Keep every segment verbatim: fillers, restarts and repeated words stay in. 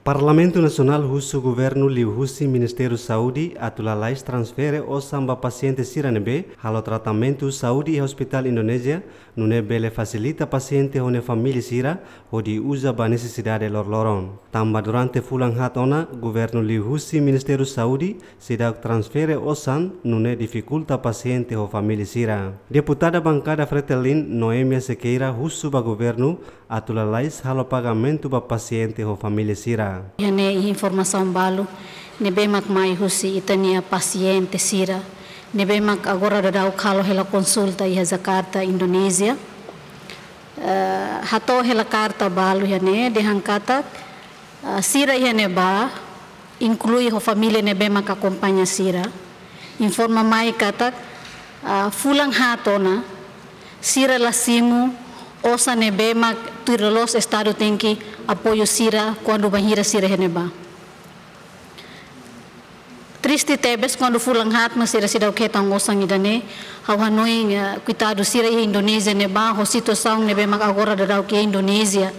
Parlamentu Nasionál husu governu liuhusi Ministériu Saúde atu lalais transfere osan ba pasiente sira ne'ebé halo tratamentu saúde iha ospitál Indonézia, nune'e bele fasilita pasiente ho nia família sira hodi uza ba nesesidade loroloron. Tanba durante fulan haat ona, governu liuhusi Ministériu Saúde seidauk transfere osan, nune'e difikulta pasiente ho família sira. Deputada bankada Fretilin, Noemia Sequeira, husu ba governu atu lalais halo pagamentu ba pasiente ho família sira. Iha ne'e informasaun balu ne'ebé mak mai husi ita-nia pasiente sira ne'ebé mak agora daudaun halo hela konsulta iha Jakarta, Indonézia. Eh, hato'o hela karta balu iha ne'e dehan katak, eh, sira iha ne'ebá, inklui ho família ne'ebé mak akompaña sira, informa mai katak, ah, fulan haat ona sira la simu osan ne'ebé mak tuir loloos Estadu tenke apoiu sira kuandu bainhira sira iha ne'ebá. Triste tebes, kuandu fulan haat mak sira seidauk hetan osan ida-ne'e, ha'u hanoin, eh, koitadu sira iha Indonézia ne'ebá, ho situasaun ne'ebé mak agora daudaun iha Indonézia,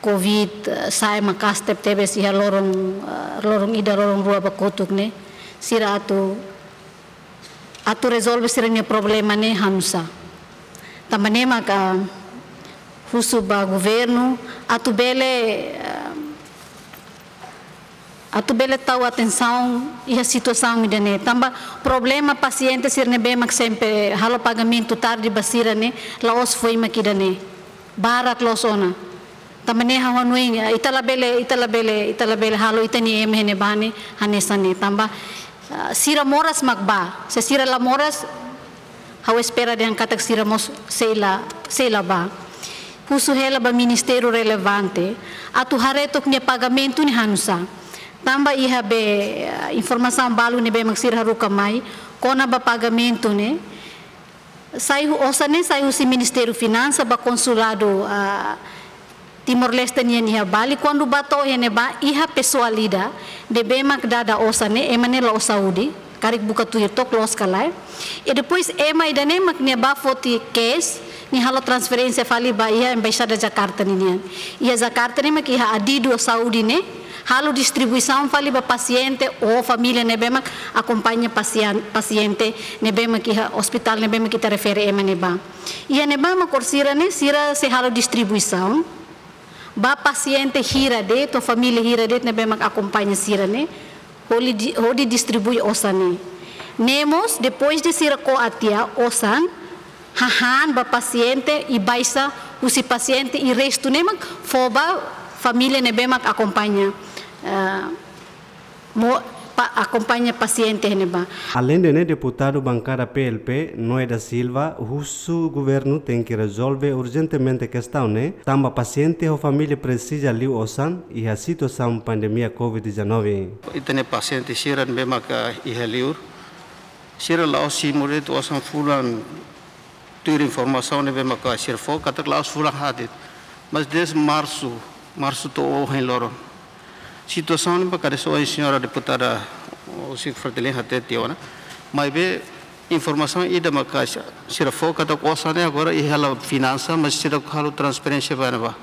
covid, eh, sa'e maka'as tebetebes iha loron, eh, loron ida, loron rua ba kotuk ne'e. Sira atu, atu rezolve sira-nia problema ne'e hanusá. Tanba ne'e maka husu ba governu atu bele, eh, atu bele tau atensaun iha situasaun ida-ne'e. Tanba problema pasiente sira ne'ebé mak sempre halo pagamentu tarde ba sira ne'e, la'ós foin mak ida-ne'e. Barak loos ona. Tanba ne'e ha'u hanoin, eh, ita labele, ita labele, ita labele halo ita-nia ema iha ne'ebá ne'e hanesan ne'e. Tanba, ah, sira moras mak bá. Se sira la moras, ha'u espera dehan katak sira mós sei la, sei la bá. Husu hela ba ministériu relevante atu haree took nia pagamentu ne'e hanusá. Tanba iha be, eh, informasaun balu ne'ebé mak sira haruka mai kona-ba pagamentu ne'e, sai hu-, osan ne'e sai husi Ministériu Finansa ba konsuladu, ah, Timor-Leste nian iha Bali, kuandu bá to'o iha ne'ebá, iha pesoál ida ne'ebé mak dada osan ne'e, ema ne'e la'ós saúde, karik buka tuir took loos ka lae. I depois ema ida-ne'e mak nia bá foti case, nia halo transferénsia fali ba iha Embaixada Jakarta ninian. Iha Jakarta ne'e mak iha adidu saúde ne'e, halo distribuisaun fali ba pasiente ou família ne'ebé mak akompaña pasian-, pasiente ne'ebé mak iha ospitál ne'ebé mak ita refere ema ne'ebá. Iha ne'ebá mak orsida ne'e sira sei halo distribuisaun ba pasiente hira de'it, ou família hira de'it ne'ebé mak akompaña sira ne'e, hodi di-, hodi distribui osan ne'e. Ne'e mós, depois de sira ko'a tiha osan, hahán ba pasiente i baixa husi pasiente i restu ne'e mak fó ba família ne'ebé mak akompaña, eh, mo-, pa-, akompaña pasiente ne'ebá. Aleinde ne'e, deputadu bankada P L P, Noé da Silva, husu governu tenke rezolve urjentemente kestaun ne'e, tanba pasiente ho família presiza liu osan iha situasaun pandemia covid dezanove. Ita-nia pasiente sira ne'ebé maka iha liur, sira la'ós simu de'it osan fulan, tuir informasaun ne'ebé maka sira fó katak la'ós fulan haat de'it. Mas desde marsu, marsu to'o ohin loron. Situasaun ne'e maka dehan señora deputada, o señór Fretilin hatete ona. Maibé informasaun ida maka sira fó katak osan ne'e agora iha hela finansa, mas seidauk halo transferénsia ba ne'ebá.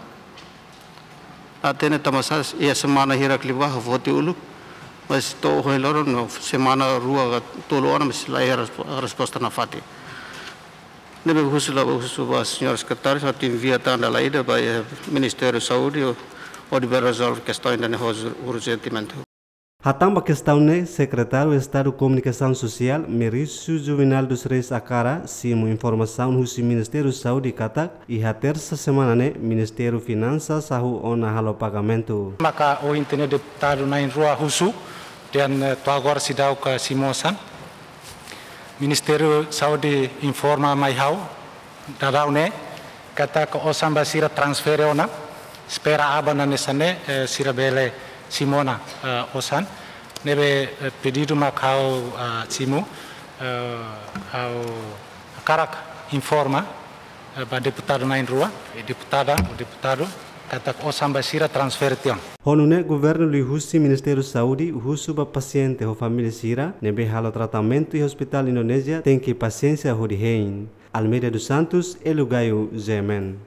La hatene tanbasá iha semana hirak liubá foti uluk, mas to'o ohin loron no semana rua ka tolu ona mas la iha respo-, resposta nafatin. Ne'ebé husu la, husu ba señór sekretáriu, atu envia tan dala ida ba, eh, Ministériu Saúde, hodi bele rezolve kestaun ida-ne'e urjentemente. Hatán ba kestaun ne'e, Sekretáriu Estadu Komunikasaun Sosiál, Merício Juvenal dos Reis Acara, simu informasaun husi Ministériu Saúde katak, iha tersa semana ne'e, Ministériu Finansa hahú ona halo pagamentu. Maka ohin ne'e deputadu na'in-rua husu, dehan, eh, to'o agora seidauk simu osan. Ministériu Saúde informa mai ha'u daudaun ne'e, katak osan ba sira transfere ona, espera aban hanesan ne'e, eh, sira bele simu ona, eh, osan. Ne'ebé, eh, pedidu mak ha'u, eh, simu, eh, ha'u hakarak informa, eh, ba deputadu na'in-rua, eh, deputada, ou deputadu, katak osan ba sira transfere tiha ona. Ho nune'e governu liuhusi Ministériu Saúde husu ba pasiente ho família sira ne'ebé halo tratamentu iha ospitál Indonézia tenke pasiénsia hodi hein. Almeida dos Santos, Hélio Gaio, G M N.